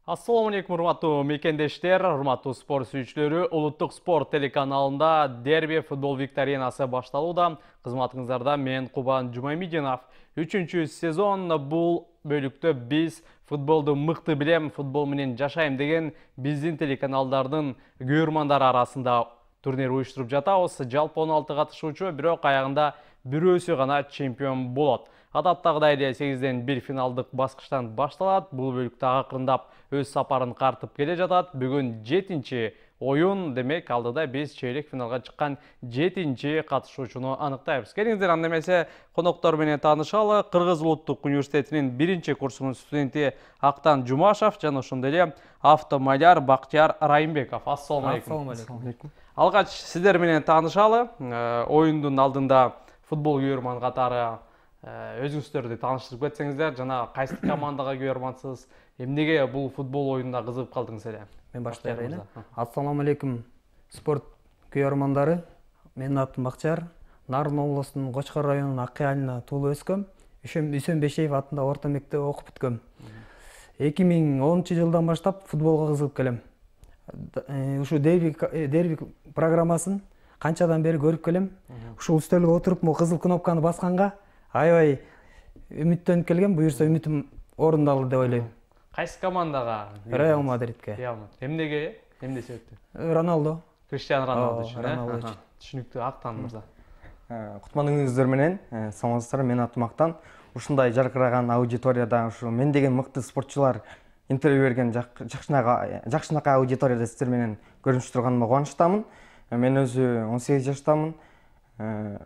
Assalamu alaikum урматтуу мекендештер, урматтуу спорт сүйүүчүлөрү. Улуттук спорт телеканалында дерби футбол викторинасы башталууда. Кызматыңыздарда мен Кубан Жумамидинов. 3-чү сезон бул бөлүктө биз футболду мыкты билем, футбол менен жашайм деген биздин телеканалдардын көрөрмандары арасында турнир уюштуруп жатабыз. Жалпы 16 катышуучу, бирок аягында бирөөсү гана чемпион болот. Адаттагыдай эле 8ден 1 финалдык баскычтан башталат. Бул бөлүктө акырындап өз сапарын картып келе жатат. Бүгүн 7-чи оюн, демек алдыда биз чейлек финалга чыккан 7-чи катышуучуну аныктайбыз. Келиңиздер, анда эмесе коноктор менен таанышалы. Кыргыз улуттук университетинин 1-чи курсунун студенти Актан Жумашев жана ошондой эле автомайляр Бактияр Райымбеков. Ассаламу алейкум. Алгач сиздер менен таанышалы. Оюндун алдында футбол көрөрман катары өзүңүздөрдү тааныштырып кетсеңиздер, жана кайсы командага көрөрмансыз, эмнеге бул футбол оюнуна кызыгып калдыңыз эле? Мен баштайын. Ассаламу алейкум спорт көрөрмандары. Менин атым Бактияр. Нарын облусунун Кочкор районунун Аккай айылына туулуп өскөм. Үсөнбешеев атында орто мектепте окуп бүткөм. 2010-жылдан баштап футболго кызыгып келем. Ушу дерби программасын канчадан бери көрүп келем. Ушул үстөлгө отуруп, могу кызыл кнопканы басканга аябай үмүттөнүп келгем. Буюрса үмүтүм орундалды деп ойлойм. Кайсы командага? Реал Мадридке. Эмнеге? Эмне себептен? Роналдо. Криштиану Роналду үчүн. Роналду үчүн. Түшүнүктүү. Актан мырза. Кутмандыгыңыздар менен, саламатсыздар, мен атым Актан. Ушундай жаркыраган аудиторияда ушу мен деген мыкты спортчулар интервью берген жакшынакай аудиторияда сиздер менен көрүнүшүп турганыма кубанычтамын. Мен өзү 18 жаштамын.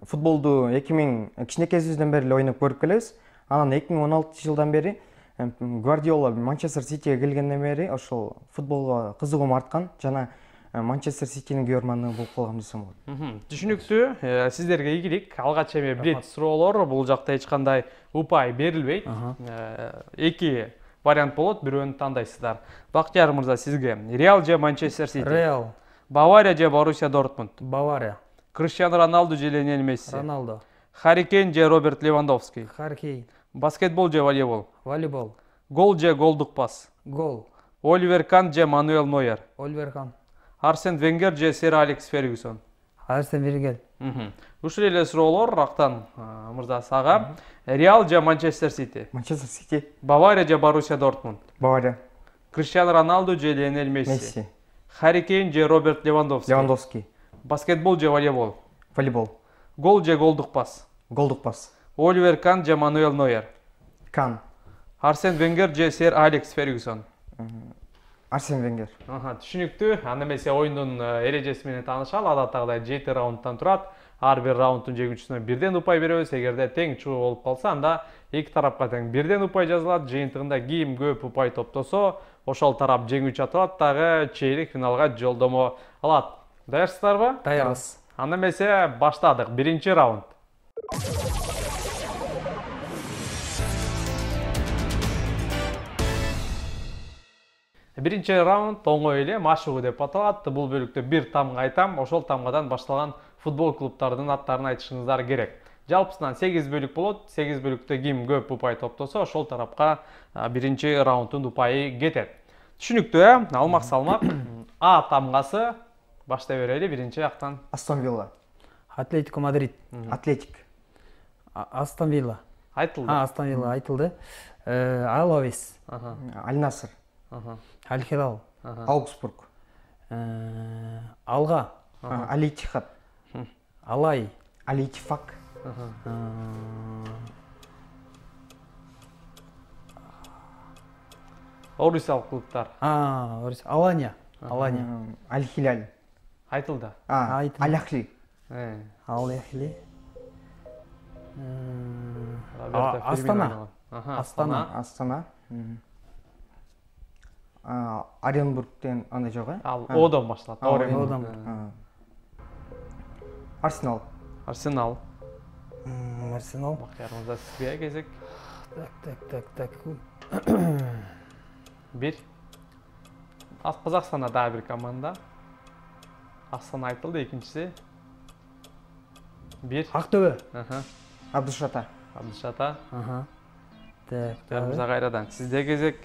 Футболду кичинекейибизден бери эле ойноп көрүп келебиз. Анан 2016-жылдан бери Гвардиола Манчестер Ситиге келгенден бери ошол футболго кызыгуум арткан жана Манчестер Ситинин көрөрманы болуп калгам десем болот. Түшүнүктүү. Сиздерге ийгилик. Алгач эми бирет суроолор, бул жакта эч кандай упай берилбейт. Эки вариант болот, бирөөнү тандайсыздар. Бактияр мырза, сизге Реал же Манчестер Сити? Реал. Бавария же Боруссия Дортмунд? Бавария. Криштиану Роналду же Лионель Месси? Роналдо. Харри Кейн же Роберт Левандовский? Харри Кейн. Баскетбол же волейбол? Волейбол. Гол же голдук пас? Гол. Оливер Кан же Мануэл Нойер? Оливер Кан. Арсен Венгер же Сэр Алекс Фергюсон? Арсен Венгер. Ушул эле суроолор Актан мырза сага. Реал же Манчестер Сити? Манчестер Сити. Бавария же Боруссия Дортмунд? Бавария. Криштиану Роналду же Лионель Месси? Месси. Харри Кейн же Роберт Левандовский? Левандовский. Баскетбол же волейбол? Волейбол. Гол же голдук пас? Голдук пас. Оливер Кан же Мануэл Нойер? Кан. Арсен Венгер же Сэр Алекс Фергюсон? Арсен Венгер. Түшүнүктүү. Анда эмесе оюндун эрежеси менен таанышалы. Адаттагыдай 7 раундтан турат. Ар бир раундтун жеңүүчүсүнө бирден упай беребиз. Эгерде тең чуу болуп калса, анда эки тарапка тең бирден упай жазылат. Жыйынтыгында ким көп упай топтосо, ошол тарап жеңүүчү аталат, дагы чейлек финалга жолдомо алат. Даярсыздарбы? Даярбыз. Анда эмесе баштадык. Биринчи раунд. Биринчи раунд оңой эле, машыгуу деп аталат. Бул бөлүктө бир тамга айтам, ошол тамгадан башталган футбол клубтардын аттарын айтышыңыздар керек. Жалпысынан 8 бөлүк болот. 8 бөлүктө ким көп упай топтосо, ошол тарапка биринчи раундтун упайы кетет. Түшүнүктүү, алмак салмак. А тамгасы баштай берели. Биринчи Актан. Астон Вилла. Атлетико Мадрид. Атлетик. Астон Вилла. Айтылды. Астон Вилла айтылды. Алавес. Аль Наср. Аль Хилал. Аугсбург. Алга. Аль Иттихад. Алай. Аль Иттифак. Орусиялык клубтар. Алания. Алания. Аль Хилаль. Айтылды. Аль Ахли. Аль Ахли. Астана. Астана. Астана. Оренбургтен андай жок, э? Ал Одон башталат. Одон. Арсенал. Арсенал. Арсенал. Бактияр мырза, сизге кезек. Так. Бир. Казакстанда дагы бир команда. Астана айтылды, экинчиси. Бир. Актөбө. Абдышата. Абдышата. Так. Мырза кайрадан сизде кезек.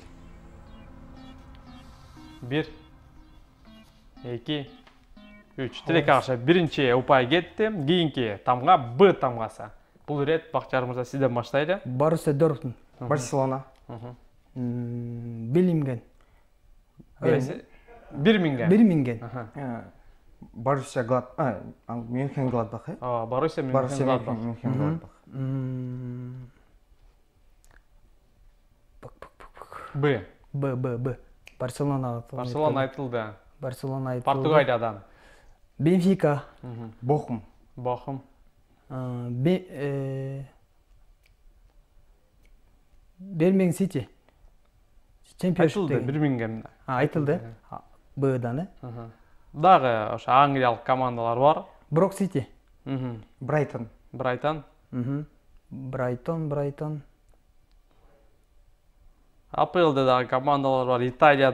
1 2 3 тилекке каршы биринчи упай кетти. Кийинки тамга Б тамгасы. Бул ирет Бакчар мырза сизден баштайлы. Боруссия Дортмунд. Барселона. Биллинген. Бирминген. Боруссия Мюнхен Гладбах. Боруссия Мюнхен Гладбах. Б. Барселона. Барселона айтылды. Барселона айтылды. Португалиядан. Бенфика. Бохум. Бирмингем Сити. Айтылды Бирмингем. Айтылды. Б'дан, Дагы ошо англиялык командалар бар. Брок Сити. Брайтон. Брайтон. АПЛда дагы командалар бар. Италия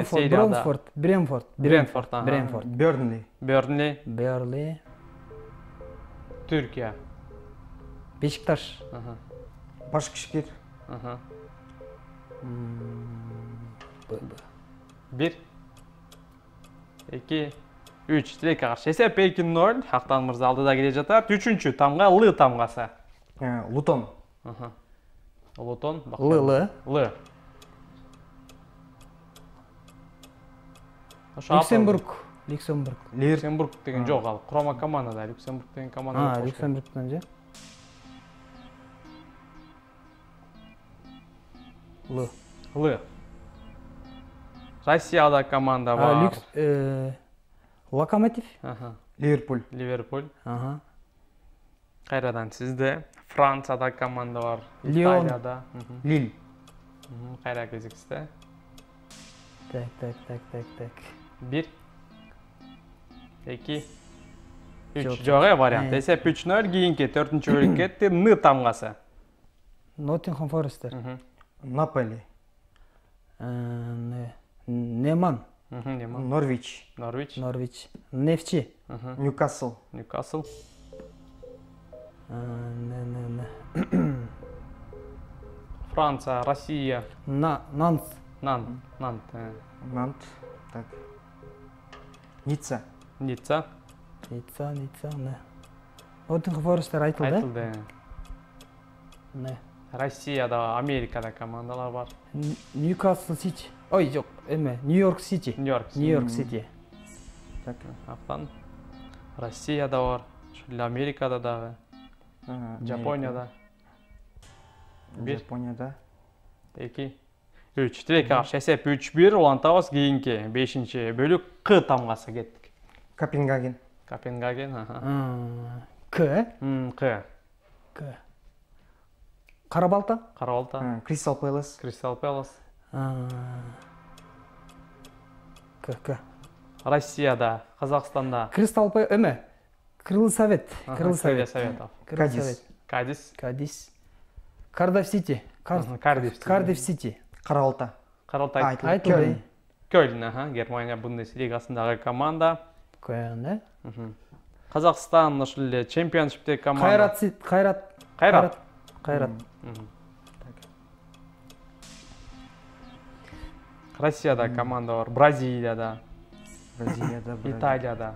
серияда. Брентфорд. Бернли. Түркия. Бешикташ. Башкишкир. 1 2 3 тилекке каршы эсеп 2-0. Актан мырза алдыда келе жатат. 3-чү тамга Л тамгасы. Лутон. Лутон. Л. Люксембург деген жок, ал курама командада. Люксембург деген команда. Люксембургтан же. Л. Россияда команда бар. Локомотив. Ливерпуль. Кайрадан сизде. Францияда команда бар. Лион. Италияда. Лиль. Кайра кезиксизде. Так. 1 2 3 жок вариант. Эсеп 3-0. Кийинки 4-чү бөлүк кетти. Н тамгасы. Ноттингем Форестер. Наполи. Неман. Норвич. Нефчи. Ньюкасл. Франция, Россия. Нант. Так. Ницца. Ноттингем Форестер айтылды. Россияда, Америкада командалар бар. Ньюкасл Сити. Ой, жок, Нью-Йорк Сити. Нью-Йорк Сити. Так. Актан Россияда бар. Америкада дагы. Жапонияда. 1 2 3 тилекке каршы эсеп 3-1. Улантабыз. Кийинки 5-чи бөлүк К тамгасы кеттик. Копенгаген. К. Карабалта. Кристал Пэлас. К. Россияда, Казакстанда. Кристал Пэлас. Крылы Совет. Кадис. Кардиф Сити. Каралта. Кёльн. Германия Бундеслигасындагы команда. Казакстан ошол эле чемпионшиптеги команда. Кайрат. Россияда команда бар. Бразилияда. Италия.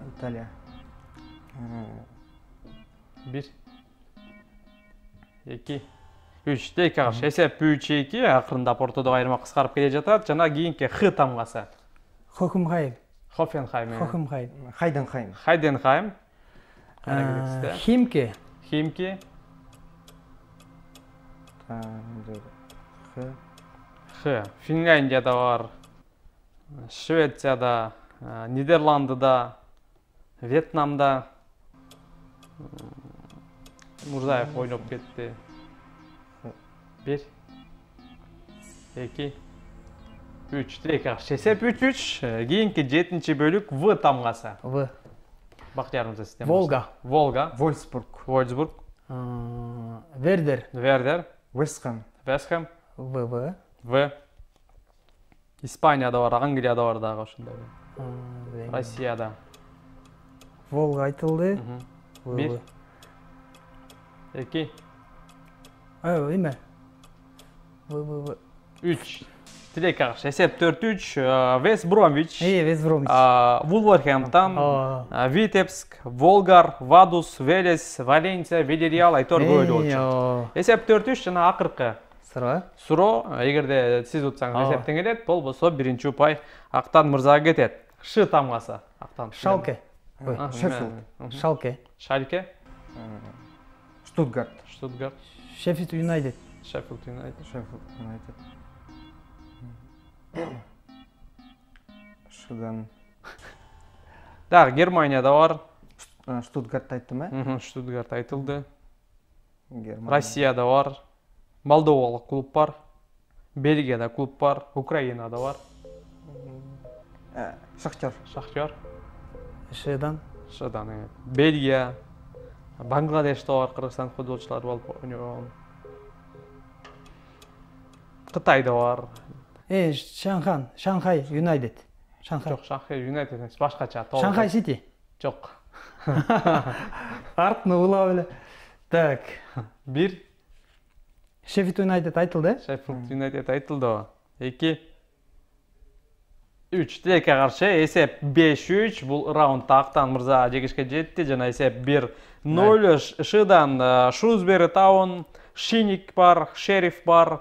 1 2 3 тилекке каршы эсеп 3-2. Акырындап ортодогу айырма кыскарып келе жатат. Жана кийинки Х тамгасы. Хофенхайм. Хайденхайм. Химки. Х. Финляндияда бар. Швецияда, Нидерландыда, Вьетнамда. Мурзаев ойноп кетти. 1 2 3 тилекке каршы эсеп 3-3. Кийинки 7-чи бөлүк В тамгасы. Бактияр мырза сизден. Волга. Вольсбург. Вердер. Вестхэм. В. Испанияда бар, Англияда бар дагы ошондой. Россияда. Волга айтылды. 1 2 3 Тилекке каршы эсеп 4-3. Вест Бромвич, Вест Бромвич. Вулверхэмптон, Витебск, Волгар, Вадус, Велес, Валенсия, Вильяреал айтор көйлү болчу. Эсеп 4-3 жана акыркы суроо, эгерде сиз утсаңыз эсептен келет, болбосо биринчи упай Актан мырзага кетет. Ш тамгасы Актан. Шалке. Шалке. Шальке. Штутгарт. Шеффилд Юнайтед. Шыдан. Дагы Германияда бар. Штутгарт айттым, э? Штутгарт айтылды. Россияда бар. Молдовалык клуб бар. Бельгияда клуб бар. Украинада бар. Шахтер. Шыдан. Бельгия. Бангладеште бар, Кыргызстан футболчулары болуп ойногон. Кытайда бар. Шанхай Юнайтед. Жок, Шанхай Юнайтед эмес, башкача. Шанхай Сити. Жок. Артны улап эле. Так. 1. Шеффилд Юнайтед айтылды. Шеффилд Юнайтед айтылды. 2. 3. Тилекке каршы эсеп 5-3. Бул раундда Актан мырза жеңишке жетти жана эсеп 1-0. Шыдан Шрусбери Таун, Шиник бар, Шериф бар.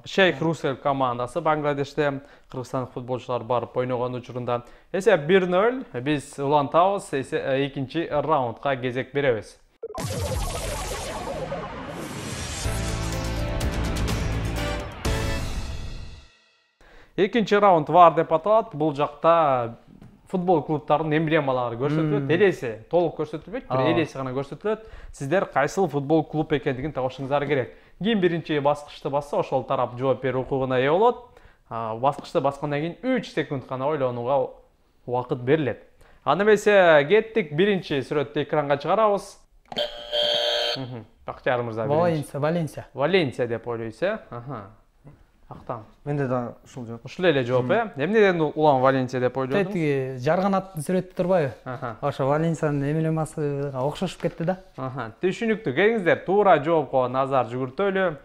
Шейх Русель командасы Бангладеште Кыргызстан футболчулары барып ойногон учурунда. Эсеп 1-0. Биз улантабыз, экинчи раундга кезек беребиз. Экинчи раунд var деп аталат. Бул жакта футбол клубтарынын эмблемалары көрсөтүлөт. Элеси толук көрсөтүлбөйт, бир элеси гана көрсөтүлөт. Сиздер кайсыл футбол клуб экендигин табышыңыздар керек. Ким биринчи баскычты басса, ошол тарап жооп берүү укугуна ээ болот. Баскычты баскандан кийин 3 секунд гана ойлонууга убакыт берилет. Аны эмесе кеттик, биринчи сүрөттү экранга чыгарабыз. Бактияр мырза биринчи. Валенсия деп ойлойсуз, э? Актан. Менде да ушул жооп. Ушул эле жооп, э? Эмнеден улам Валенсия деп ойлодуңуз? Тетиги жарганаттын сүрөтү турбайбы? Ошо Валенсиянын эмблемасыга окшошуп кетти да. Түшүнүктүү. Келиңиздер, туура жоопко назар жүгүртөлү.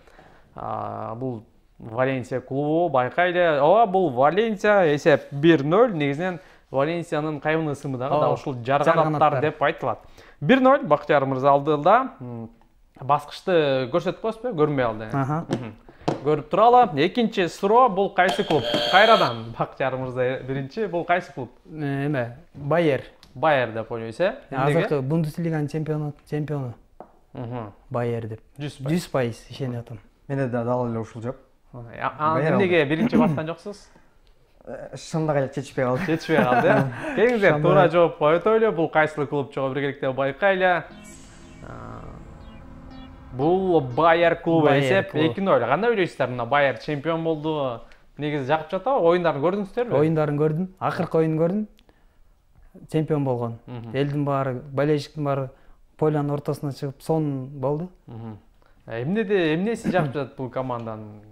Бул Валенсия клубу, байкайлы. Ооба, бул Валенсия, эсеп 1-0. Негизинен Валенсиянын кайбын ысымы дагы ушул жарганаттар деп айтылат. 1-0 Бактияр мырза алдыда. Баскычты көрсөтүп коесузбу? Көрүнбөй алды. Көрүп туралы. Экинчи суроо, бул кайсы клуб? Кайрадан Бактияр мырза биринчи, бул кайсы клуб? Байер. Байер деп ойлойсуз, э? Азыркы Бундеслиганын чемпиону. Байер деп. 100% ишенип атам. Менде да дал эле ушул жооп. Эмнеге биринчи баскан жоксуз? Шындык эле чечишпей калды. Чечишпей калды, э? Келиңиздер, туура жоопко өтөлү. Бул кайсыл клуб чогуу биргеликте байкайлы. Бул Байер клубу, эсеп 2-0. Кандай ойлойсуздар, мына Байер чемпион болду? Негизи жакып жатабы? Оюндарын көрдүңүздөрбү? Оюндарын көрдүм. Акыркы оюнун көрдүм. Чемпион болгон. Элдин баары, болельщиктин баары полянын ортосуна чыгып сон болду. Эмнеси жакып жатат бул команданын?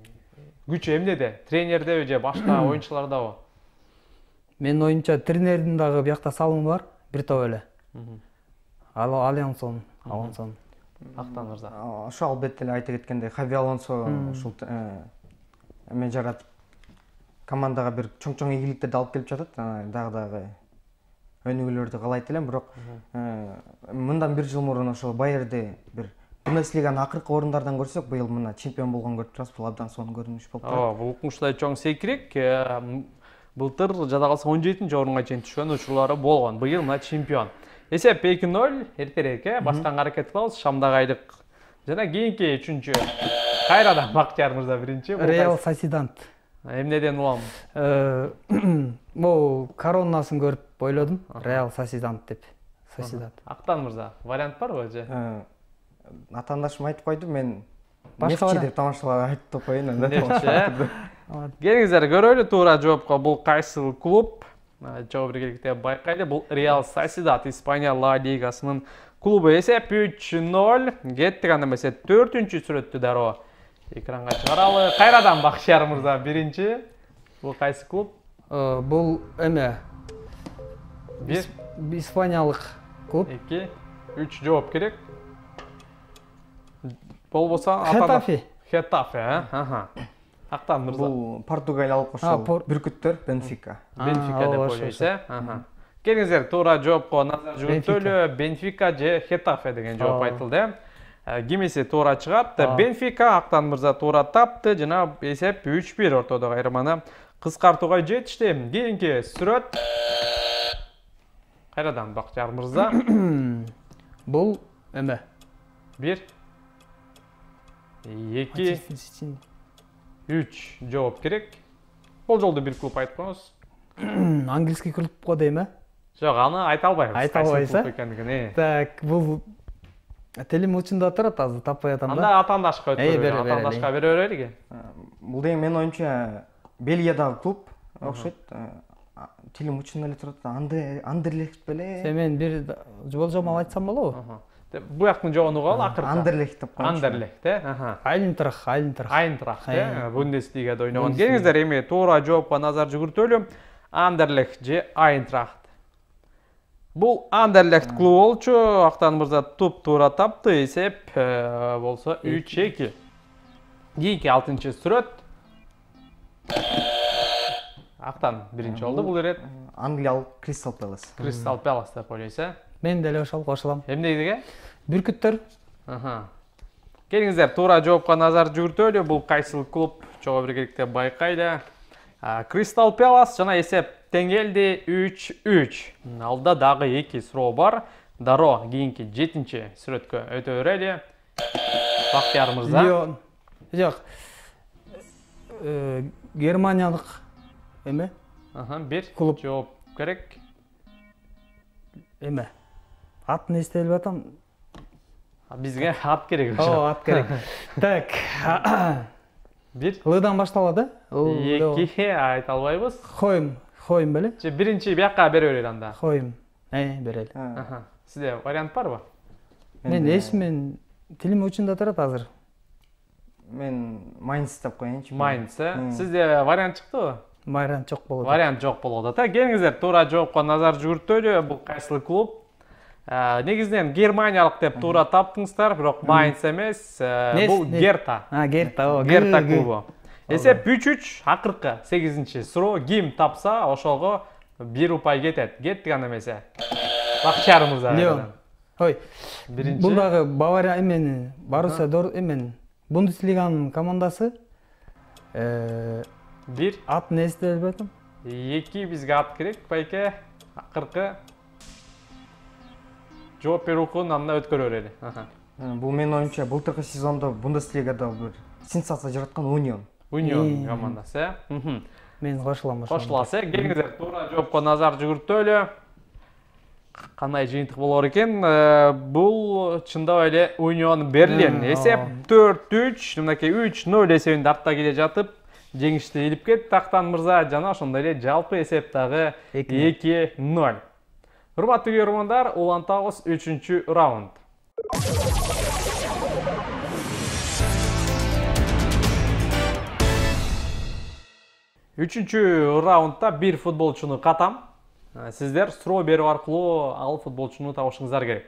Күчү эмнеде? Тренердеби же башка оюнчулардабы? Менин оюмча тренердин дагы биякта салымы бар, бир топ эле. Алонсон. Актан мырза. Ошо албетте эле айта кеткендей, Хави Алонсо ушул эме жаратып командага бир чоң ийгиликтерди алып келип жатат. Дагы өнүгүүлөрдү каалайт элем, бирок мындан бир жыл мурун ошо Байерди бир Бундеслиганын акыркы орундардан көрсөк, быйыл мына чемпион болгон көрүп турасыз, бул абдан сонун көрүнүш болуп турат. Бул укмуштай чоң секирек. Былтыр жада калса 17-нчи орунга чейин түшкөн учурлары болгон. Быйыл мына чемпион. Эсеп 2-0, эртерээк, басканга аракет кылабыз. Шамдагайлык жана кийинки 3-чү. Кайрадан Бактияр мырза биринчи. Реал Сосидант. Эмнеден улам? Бул коронасын көрүп ойлодум. Реал Сосидант деп. Актан мырза, вариант барбы же? Атаандашым айтып койду, мен башка деп тамашалап айтып коеюн анда. Келиңиздер көрөлү туура жоопко. Бул кайсыл клуб? Жоо биргеликте байкайлы. Бул Реал Сосидад, Испания Ла Лигасынын клубу. Эсеп 3-0. Кеттик, анда эмесе 4-чү сүрөттү дароо экранга чыгаралы. Кайрадан Бактияр мырза биринчи. Бул кайсы клуб? Бул эме Испаниялык клуб. 2, 3 жооп керек. Болбосо Хетафе. Хетафе, Актан мырза. Бул Португалиялык ошол бүркүттөр Бенфика. Бенфика деп ойлойсуз, Келиңиздер, туура жоопко назар жүгүртөлү. Бенфика же Хетафе деген жооп айтылды. Кимиси туура чыгат? Бенфика. Актан мырза туура тапты. Жана эсеп 3-1 ортодогу айырманы кыскартууга жетишти. Кийинки сүрөт. Кайрадан Бакчар мырза. Бул эме 1 2 3 жооп керек. Бул жолду бир клуб айтып коюңуз. английский клубко дейм, Жок, аны айта албайбыз. Айта албайсыз. Так, бул телим учунда турат, азыр таппай атам да. Анда атаандашка өткөрөлү. Атаандашка бере берелиги. Бул деген менин оюмча Бельгиядагы клуб окшойт. Телим учунда эле турат. Андерлехт беле. Мен бир болжол айтсам болобу? Буяктын жообун угалы акыркы. Андерлехт деп коёмун. Андерлехт, Айнтрах, Бундеслигада ойногон. Келиңиздер, эми туура жоопко назар жүгүртөлү. Андерлехт же Айнтрахт. Бул Андерлехт клубу болчу. Актан мырза туп-туура тапты. Эсеп болсо 3-2. Кийинки 6-чы сүрөт. Актан биринчи болду бул ирет. Англиялык Кристал Пэлас. Кристал Пэлас деп ойлойсуз, Мен деле ошол кошулам. Эмнеге? Бүркүттөр. Келиңиздер, туура жоопко назар жүгүртөлү. Бул кайсыл клуб? Чогуу биргеликте байкайлы. Кристал Пэлас жана эсеп тең келди 3-3. Алда дагы 2 суроо бар. Дароо кийинки 7-чи сүрөткө өтө берели. Бактияр мырза. Жок. Германиялык эме? Бир клуб жооп керек. Эме? Атын эстелип атам. Бизге ат керек. Ат керек. Так. Бир. Лыдан башталады. 2 айта албайбыз. Хойм беле? Же биринчи бияка бере берели анда. Хойм. Берели. Сизде вариант барбы? Мен эсимен тилим учунда турат азыр. Мен Майнц деп коеюнчу. Майнц. Сизде вариант чыктыбы? Вариант жок болот. Вариант жок болот ата. Келиңиздер, туура жоопко назар жүгүртөлү. Бул кайсыл клуб? Негизинен Германиялык деп туура таптыңыздар, бирок Майнц эмес. Бул Герта. Герта клубу. Эсеп 3-3, акыркы 8-чи суроо. Ким тапса, ошого 1 упай кетет. Кеттик анда эмесе. Бакчар мырза. Ой. Биринчи. Бул дагы Бавария эмен, Боруссия эмен Бундеслиганын командасы. 1 атын эстелип атам. 2 бизге ат керек, байке. Акыркы жооп берүү укугун анда өткөрө берели. Бул менин оюмча былтыркы сезондо Бундеслигада бир сенсация жараткан Унион командасы. Мен кошулам. Кошуласыз. Келиңиздер, туура жоопко назар жүгүртөлү. Кандай жыйынтык болор экен? Бул чындап эле Унион Берлин. Эсеп 4-3, мынакей 3-0 эсебинде артта келе жатып, жеңишти илип кетти Актан мырза жана ошондой эле жалпы эсеп дагы 2-0. Урматтуу көрөрмандар, улантабыз 3-чү раунд. Үчүнчү раундда бир футболчуну катам. Сиздер суроо берүү аркылуу ал футболчуну табышыңыздар керек.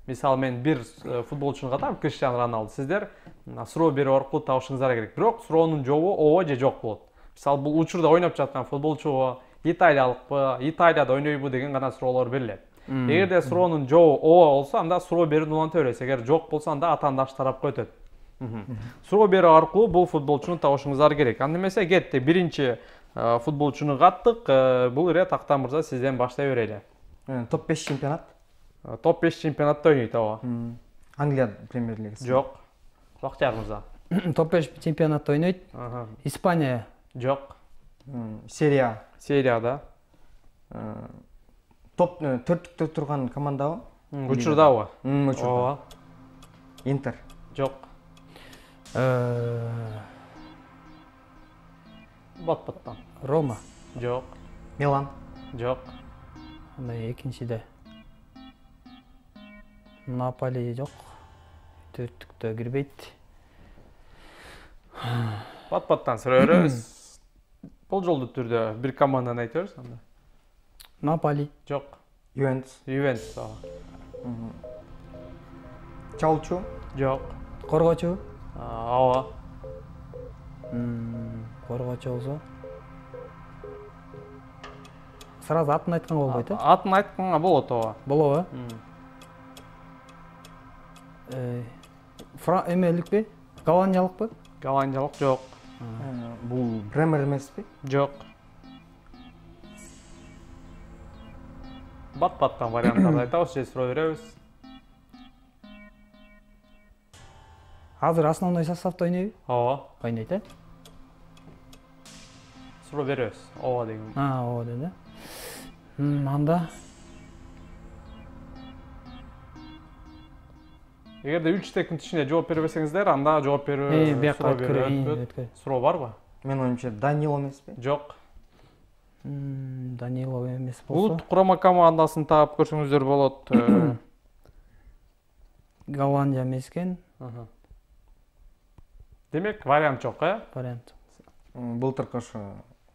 Мисалы мен бир футболчуну катам, Криштиану Роналду. Сиздер суроо берүү аркылуу табышыңыздар керек. Бирок суроонун жообу ооба же жок болот. Мисалы бул учурда ойноп жаткан футболчу италиялыкпы, Италияда ойнойбу деген гана суроолор берилет. Эгерде суроонун жообу ооба болсо, анда суроо берүүнү уланта бересиз. Эгер жок болсо, анда атаандаш тарапка өтөт. Суроо берүү аркылуу бул футболчуну табышыңыздар керек. Анда эмесе кетти. Биринчи футболчуну каттык. Бул ирет Актан мырза сизден баштай берели. Топ 5 чемпионат. Топ 5 чемпионатта ойнойт, ооба. Англия премьер лигасы. Жок. Бактияр мырза. Топ 5 чемпионатта ойнойт. Испания. Жок. Серия. Серияда. Топ 4-түктө турган командабы? Учурдабы? Учурда. Интер. Жок. Бат-баттан. Рома. Жок. Милан. Жок. Анда экинчиде. Наполи жок. Төрттүктө кирбейт. Бат-баттан суроо беребиз. Болжолдуу түрдө бир команданы айта берсиз анда. Наполи. Жок. Ювентус. Ювентус. Чалчу. Жок. Коргочу. Ооба. коргоочу болсо сразу атын айтканга болбойт Атын айтканга болот ооба. болобу эмеликпи голландиялыкпы Голландиялык жок. Бул Бремер эмеспи? Жок. Бат-баттан варианттарды айтабыз, же суроо беребиз. азыр основной составда ойнойбу Ооба. ойнойт Суроо беребиз. Ооба деген. ооба деди анда Эгерде 3 секунд ичинде жооп бербесеңиздер, анда жооп берүү бияка суроо өткөрөйүн Суроо барбы? Менин оюмча Данило эмеспи? Жок. Данилов эмес болсо Улут курама командасын таап көрсөңүздөр болот. Голландия эмес экен Демек, вариант жок, вариант Былтыркы ошо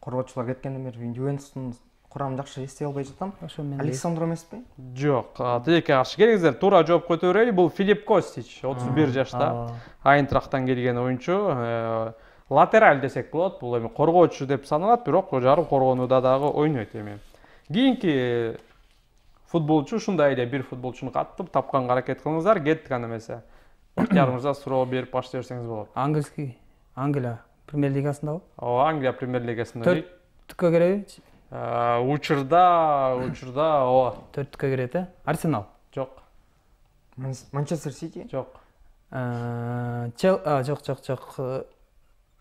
коргоочулар кеткенден бери Ювентустун курамын жакшы эстей албай жатам. ошо мен Александро эмеспи? Жок. Тилекке каршы келиңиздер, туура жооп който берели. Бул Филипп Костич, 31 жашта. Айнтрахтан келген оюнчу. Латераль десек болот. Бул эми коргоочу деп саналат, бирок жарым коргонууда дагы ойнойт эми. Кийинки футболчу ушундай эле бир футболчуну каттып тапканга аракет кылыңыздар, кеттик анда эмесе. Бактиярыңызга суроо берип баштай берсеңиз болот. английский Англия премьер лигасындабы Ооба, Англия премьер лигасында дейт. төрттүккө киреби Учурда ооба. төрттүккө кирет Арсенал Жок. Манчестер Сити? Жок. жок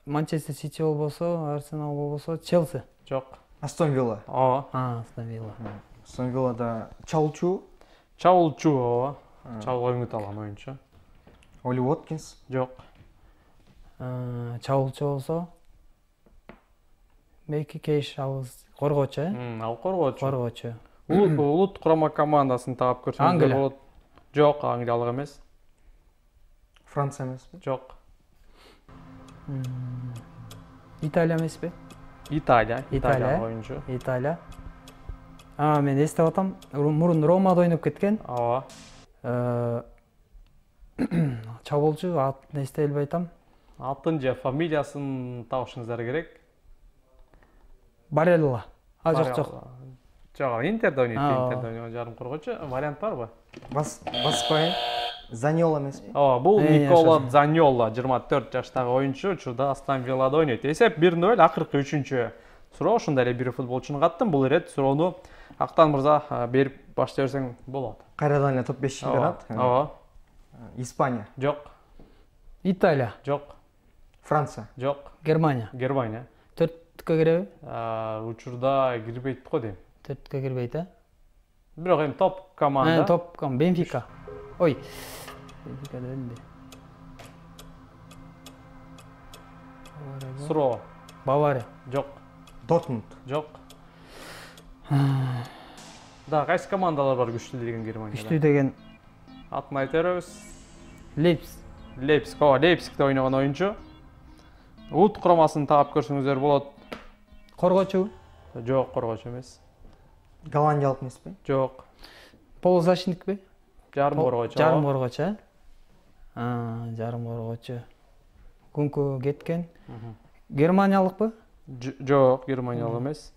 Манчестер Сити болбосо Арсенал болбосо Челси Жок. Астон Вилла. Ооба. Астон Вилла Астон Виллада Чалчу, Чаулчу ооба. Чабуга үмүт алган оюнчу. Оли Уоткинс. Жок. Чабуулчу болсо Мейки Кейш абыз коргоочу Ал коргоочу. Улут курама командасын таап көрсөңүздөр Англия. болот. Жок, англиялык эмес. Франция эмеспи? Жок. Италия эмеспи Италия Италия. оюнчу. Италия мен эстеп атам мурун Ромада ойноп кеткен Ооба. чабуулчу атын эстей албай атам Атын же фамилиясын табышыңыздар керек. Барелла жок Жок, Интерде ойнойт, Ооба. Интерде ойногон жарым коргоочу. Вариант барбы? Баспай. Заньола эмеспи? Ооба, бул Никола жашасын. Заньола, 24 жаштагы оюнчу, учурда Астон Виллада ойнойт. Эсеп 1-0, акыркы 3-чү суроо. Ошондой эле бир футболчуну каттым. Бул ирет суроону Актан мырза берип баштай берсең болот. Кайрадан эле топ 5 чемпионат. Ооба. Испания, Жок. Италия Жок. Франция, Жок. Германия Германия. төрттүккө киреби Учурда кирбейт го дейм. төрттүккө кирбейт Бирок эми топ команда. топ Бенфика ой Бенфика эмне Суроо. Бавария Жок. Дортмунд, Жок. Да, кайсы командалар бар күчтүү деген Германияда? күчтүү деген Атын айта беребиз. Лейпциг Лейпцигде ойногон оюнчу. Улут курамасын таап көрсөңүздөр болот. коргоочу Жок, коргоочу эмес. голландиялык эмеспи? Жок. полузащитникпи Жарым коргоочу. жарым коргоочу жарым коргоочу күнкү кеткен германиялыкпы Жок, германиялык эмес.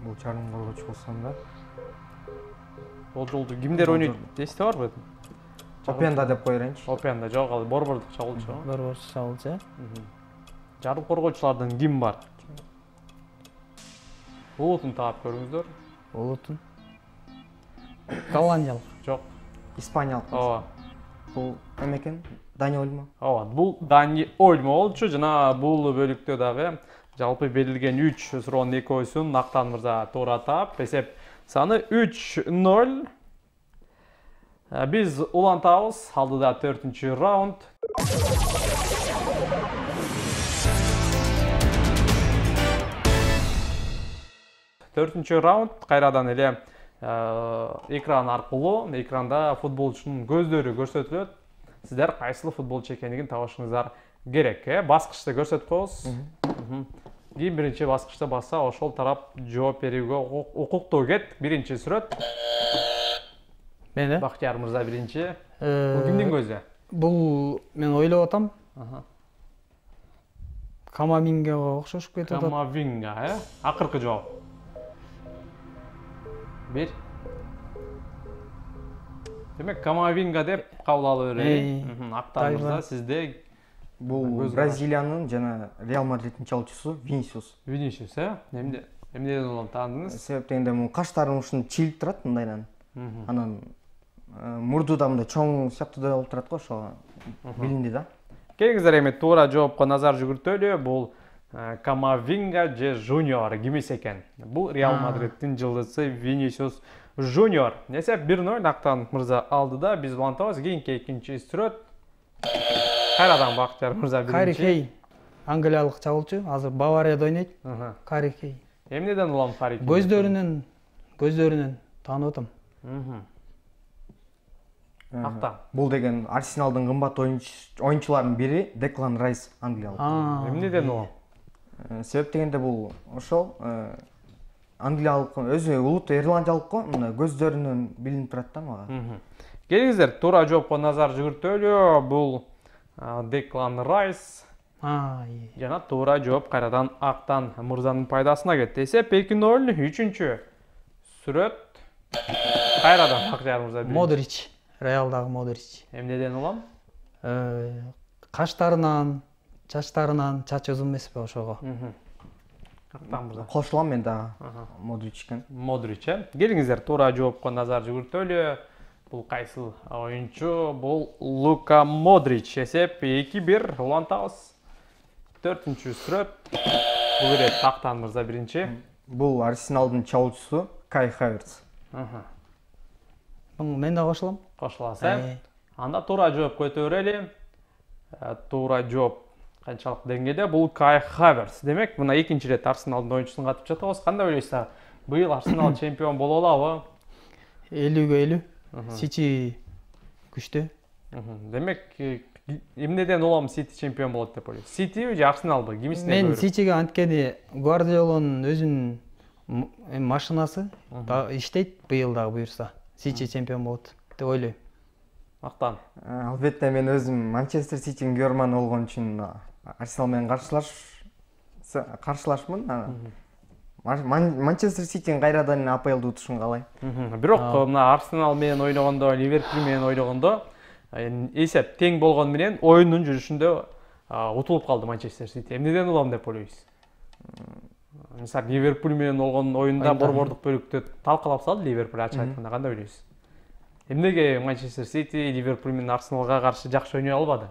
Бул жарым коргоочу болсом да. Бул жолду кимдер ойнойт? Эсте барбы? Опенда деп кое берейинчи. Опенда жок, ал борбордук чабуулчу. борборчу чабуулчу Жарым коргоочулардан ким бар? Улутун таап көрүңүздөр. улутун голландиялык Жок. Испаниялык. Ооба. Бул эме экен? Дани Ольмо. Ооба, бул Дани Ольмо болчу. Жана бул бөлүктө дагы жалпы берилген 3 суроонун экөөсүн Актан мырза туура таап, эсеп саны 3-0. Биз улантабыз. Алдыда 4-чү раунд. Төртүнчү раунд кайрадан эле экран аркылуу, экранда футболчунун көздөрү көрсөтүлөт. Сиздер кайсыл футболчу экендигин табышыңыздар керек. Баскычты көрсөтүп коебуз. Ким биринчи баскычты басса, ошол тарап жооп берүүгө укуктуу. Кет, биринчи сүрөт. мен Бактияр мырза биринчи. Бул кимдин көзү? бул мен ойлоп атам Камамингага окшошуп кетип атат. Камавинга, акыркы жооп. Бир. Демек Камавинга деп кабыл алып берели. Актан мырза, сизде Бул Бразилиянын жана Реал Мадридтин чалуучусу Винисиус. Винисиус, эмнеден улам таандыңыз? Себеп дегенде бул каштарын ушунтип чилип турат мындайдан. Анан мурду да мындай чоң сыяктуу да болуп турат го, ошого билинди да. Келиңиздер эми туура жоопко назар жүгүртөлү. Бул Камавинга же Жуниор кимис экен? Бул Реал Мадридтин жылдызы Винисиус Жуниор. Эсеп 1-0 Актан мырза алды да, биз улантабыз. Кийинки экинчи сүрөт. Кайрадан Бактияр мырза биринчи. Кари Кей, англиялык чабуулчу, азыр Баварияда ойнойт. Кари Кей. Эмнеден улам Кари Кей? Көздөрүнөн таанып атам. Актан. Бул деген Арсеналдын кымбат оюнчуларынын бири Деклан Райс, англиялык. Эмнеден улам? Себеп дегенде бул ошол англиялык, өзү улут ирландиялык го, мына көздөрүнөн билинип турат да мага. Келиңиздер туура жоопко назар жүгүртөлү. Бул Деклан Райс. Жана туура жооп кайрадан Актан мырзанын пайдасына кетти. Эсеп 2-0, 3-чү сүрөт. Кайрадан Бактияр мырза биринчи. Модрич, Реалдагы Модрич. Эмнеден улам? Каштарынан, чачтарынан, чач узун эмеспи ошого. Актан мырза. Кошулам мен дагы Модричке. Модрич. Келиңиздер туура жоопко назар жүгүртөлү. Бул кайсыл оюнчу? Бул Лука Модрич. Эсеп 2-1 улантабыз. 4-чү сүрөт. Бул ирет Актан мырза биринчи. Бул Арсеналдын чабуулчусу Кай Хаверц. Мен да кошулам. Кошуласыз. Анда туура жооп өтө берели. Туура жооп канчалык деңгээлде? Бул Кай Хаверц. Демек, мына экинчи ирет Арсеналдын оюнчусун катып жатабыз. Кандай ойлойсуздар? Быйыл Арсенал чемпион боло алабы? 50-50. Сити күчтүү. Демек, эмнеден улам Сити чемпион болот деп ойлойсуз? Сити же Арсеналбы? Кимисине Мен Ситиге анткени Гвардиоланын өзүнүн машинасы иштейт, быйыл дагы буюрса. Сити чемпион болот деп ойлойм. Актан. Албетте мен өзүм Манчестер Ситинин көрөрманы болгон үчүн Арсенал менен каршылашмын. Манчестер Ситинин кайрадан АПЛду утушун каалайм. Бирок мына Арсенал менен ойногондо, Ливерпуль менен ойногондо эсеп тең болгон менен оюндун жүрүшүндө утулуп калды Манчестер Сити. Эмнеден улам деп ойлойсуз? Мисалы Ливерпуль менен болгон оюнда борбордук бөлүктө талкалап салды Ливерпуль, ачык айтканда кандай ойлойсуз? Эмнеге Манчестер Сити Ливерпуль менен Арсеналга каршы жакшы ойной албады?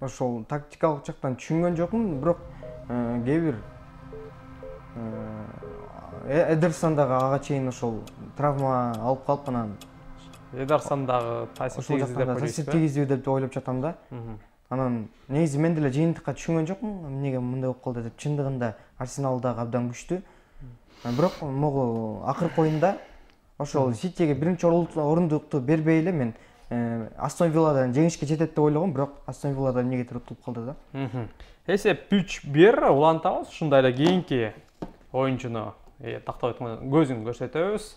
Ошол тактикалык жактан түшүнгөн жокмун, бирок кээ бир Эдерсон дагы ага чейин ошол травма алып калып, анан Эдерсон дагы таасир тийгизүү деп ойлоп жатам да. Анан негизи мен деле жыйынтыкка түшүнгөн жокмун, эмнеге мындай болуп калды деп. Чындыгында Арсенал дагы абдан күчтүү. Бирок могу акыркы оюнда ошол Ситиге биринчи орундукту бербей эле мен Астон Вилладан жеңишке жетет деп ойлогом, бирок Астон Вилладан эмнегедир утулуп калды да. Эсеп 3-1 улантабыз. Ушундай эле кийинки оюнчуну тактап айтканда көзүн көрсөтөбүз.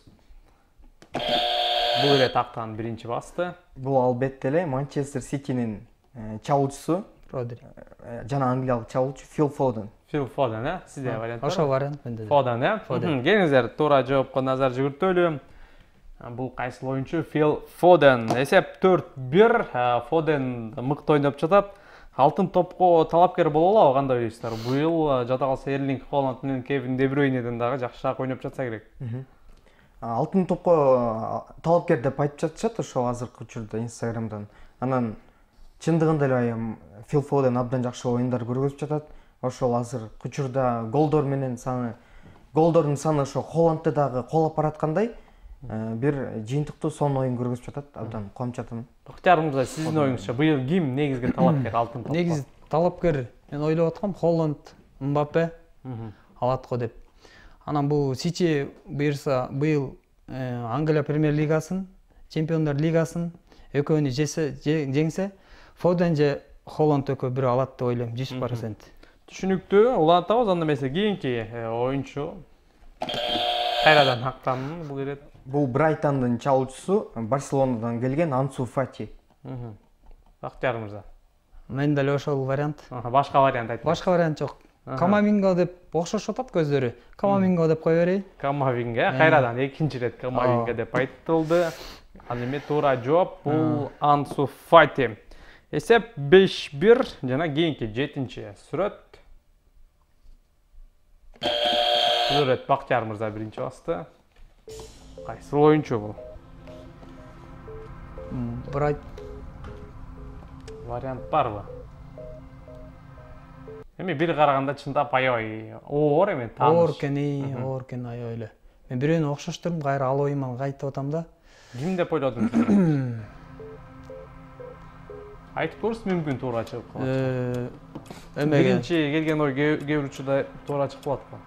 Бул ирет Актан биринчи басты. Бул албетте эле Манчестер Ситинин чабуулчусу Родри жана англиялык чабуулчу Фил Фоден. Фил Фоден, сизде вариант бар? Ошол вариант менде. Фоден, келиңиздер туура жоопко назар жүгүртөлү. Бул кайсыл оюнчу? Фил Фоден. Эсеп 4-1. Фоден мыкты ойноп жатат. Алтын топко талапкер боло алабы, кандай ойлойсуздар? Быйыл жада калса Эрлинг Холланд менен Кевин Де Брюйнеден дагы жакшыраак ойноп жатса керек. Алтын топко талапкер деп айтып жатышат ошол азыркы учурда Инстаграмдан. Анан чындыгында эле Фил Фоден абдан жакшы оюндар көргөзүп жатат. Ошол азыркы учурда голдордун саны ошо Холландты дагы колоп бараткандай бир жыйынтыктуу сонун оюн көргөзүп жатат. Абдан кубанып жатам. Бактияр мырза, сиздин оюңузча быйыл ким негизги талапкер алтын топко? Негизи талапкер мен ойлоп аткам Холланд, Мбаппе алат го деп. Анан бул Сити буюрса быйыл Англия премьер лигасын, Чемпиондар лигасын экөөнү жеңсе, Фоден же Холланд экөө бирөө алат деп ойлойм, 100%. Түшүнүктүү, улантабыз. Анда эмесе кийинки оюнчу кайрадан Актан бул ирет. Бул Брайтондун чабуулчусу Барселонадан келген Ансу Фати. Бактияр мырза. Мен деле ошол вариант. Башка вариант айтыңыз. Башка вариант жок. Камаминга деп окшошуп атат көздөрү. Камаминга деп кое берейин. Камавинга кайрадан экинчи ирет Камавинга деп айтылды. Ал эми туура жооп бул Ансу Фати. Эсеп 5-1 жана кийинки 7-чи сүрөт. Сүрөт Бактияр мырза биринчи басты. Кайсы оюнчу бул? Вариант барбы? Эми бир караганда чындап аябай оор эми тааныш. Оор экен аябай эле. Мен бирөөнү окшоштурдум, кайра ал оюман кайтып атам да. Ким деп ойлодуңуз? Айтып көрүңүз, мүмкүн туура чыгып калат. Биринчи келген ой кээ бир учурда туура чыгып калат го.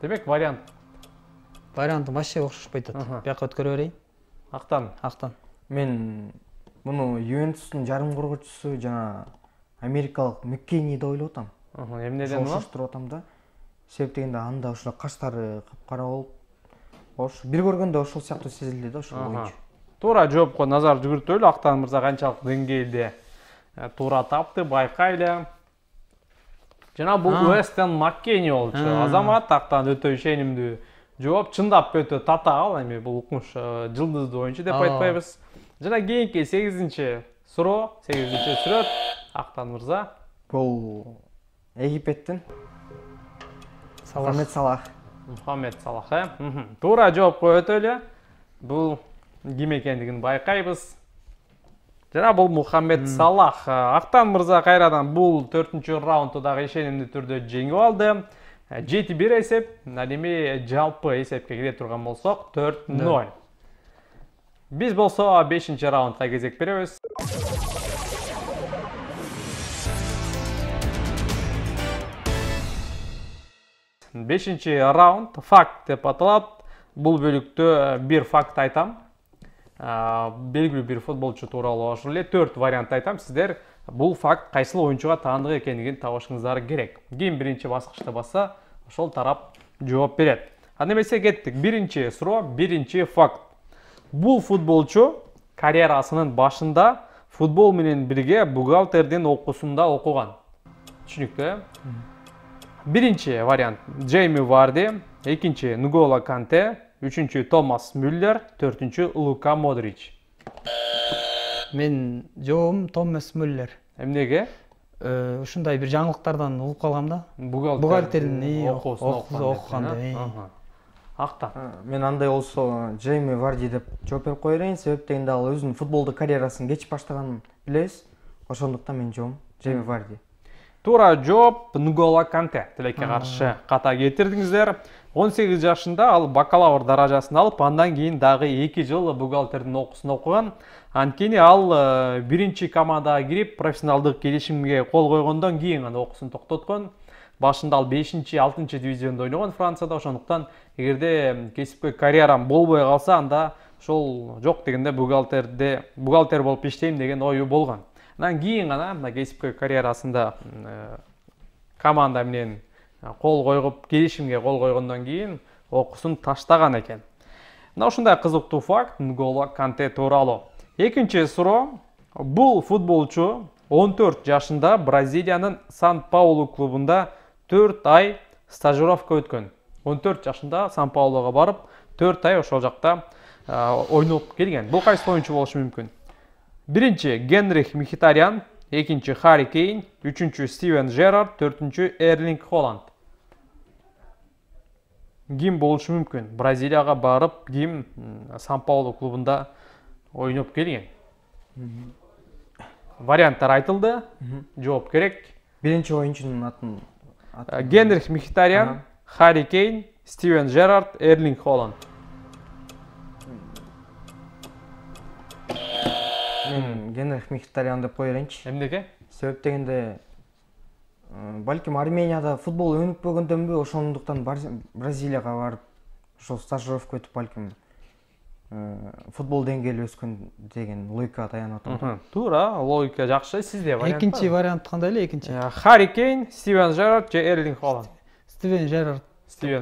Демек Вариантым вообще окшошпой атат. Бияка өткөрө берейин. Актан. Мен муну Ювентустун жарым коргоочусу жана америкалык Маккейни деп ойлоп атам. Эмнеден ул? Окшоштуруп атам да. Себеп дегенде анда ушул каштары капкара болуп, бир көргөндө ошол сыяктуу сезилди да ошол оюнчу. Туура жоопко назар жүгүртөлү. Актан мырза канчалык деңгээлде туура тапты, байкайлы. Жана бул Уэстен Маккейни болчу. Азамат Актан өтө ишенимдүү жооп, чындап өтө татаал. Эми бул укмуш жылдыздуу оюнчу деп айтпайбыз. Жана кийинки 8-чи суроо, 8-чи сүрөт Актан мырза. Бул Египеттин Мухаммед Салах. Туура жоопко өтөлү. Бул ким экендигин байкайбыз. Жана бул Мухаммед Салах. Актан мырза кайрадан бул 4-чү раундду дагы ишенимдүү түрдө жеңип алды. 7-1 эсеп. Ал эми жалпы эсепке кире турган болсок 4-0. Биз болсо 5-чи раундга кезек беребиз. 5-чи раунд факт деп аталат. Бул бөлүктө бир факт айтам. Белгилүү бир футболчу тууралуу ошол эле 4 вариант айтам. Сиздер бул факт кайсыл оюнчуга таандык экендигин табышыңыздар керек. Ким биринчи баскычты баса, ошол тарап жооп берет. Анда эмесе кеттик. Биринчи суроо, биринчи факт. Бул футболчу карьерасынын башында футбол менен бирге бухгалтердин окуусунда окуган. Түшүнүктүү? Биринчи вариант Джейми Варди, экинчи Нголо Канте, үчүнчү Томас Мюллер, төртүнчү Лука Модрич. Мен жообум Томас Мюллер. Эмнеге? Ушундай бир жаңылыктардан угуп калгам да. Бухгалтердин окуганда. Актан. Мен андай болсо Джейми Варди деп жооп берип кое берейин. Себеп дегенде ал өзүнүн футболдук карьерасын кеч баштаганын билебиз. Ошондуктан мен жообум Джейми Варди. Туура жооп Нголо Канте. Тилекке каршы ката кетирдиңиздер. 18 жашында ал бакалавр даражасын алып, андан кийин дагы 2 жыл бухгалтердин окуусун окуган. Анткени ал биринчи командага кирип, профессионалдык келишимге кол койгондон кийин гана окуусун токтоткон. Башында ал 5-6 дивизиондо ойногон Францияда. Ошондуктан эгерде кесипкөй карьерам болбой калса, анда ошол жок дегенде бухгалтер болуп иштейм деген ою болгон. Андан кийин гана мына кесипкөй карьерасында команда менен кол койгуп, келишимге кол койгондон кийин окуусун таштаган экен. Мына ушундай кызыктуу факт Нголо Канте тууралуу. Экинчи суроо. Бул футболчу 14 жашында Бразилиянын Сан-Паулу клубунда 4 ай стажировка өткөн. 14 жашында Сан-Паулуга барып, 4 ай ошол жакта ойноп келген. Бул кайсы оюнчу болушу мүмкүн? Биринчи Генрих Мхитарян, экинчи Харри Кейн, үчүнчү Стивен Жеррард, төртүнчү Эрлинг Холланд. Ким болушу мүмкүн? Бразилияга барып, ким Сан-Паулу клубунда ойноп келген? Варианттар айтылды. Жооп керек. Биринчи оюнчунун атын Генрих Мхитарян, Харри Кейн, Стивен Жеррард, Эрлинг Холланд. Мен Генрих Мхитарян деп кое берейинчи. Эмнеге? Себеп дегенде балким Арменияда футбол өнүп бөгөндөнбү, ошондуктан Бразилияга барып, ошол стажировка өтүп балким футбол деңгээли өскөн деген логикага таянып атам. Туура, логика жакшы. Сизде вариант. Экинчи вариант кандай эле экинчи? Харри Кейн, Стивен Жеррард же Эрлинг Холланд? Стивен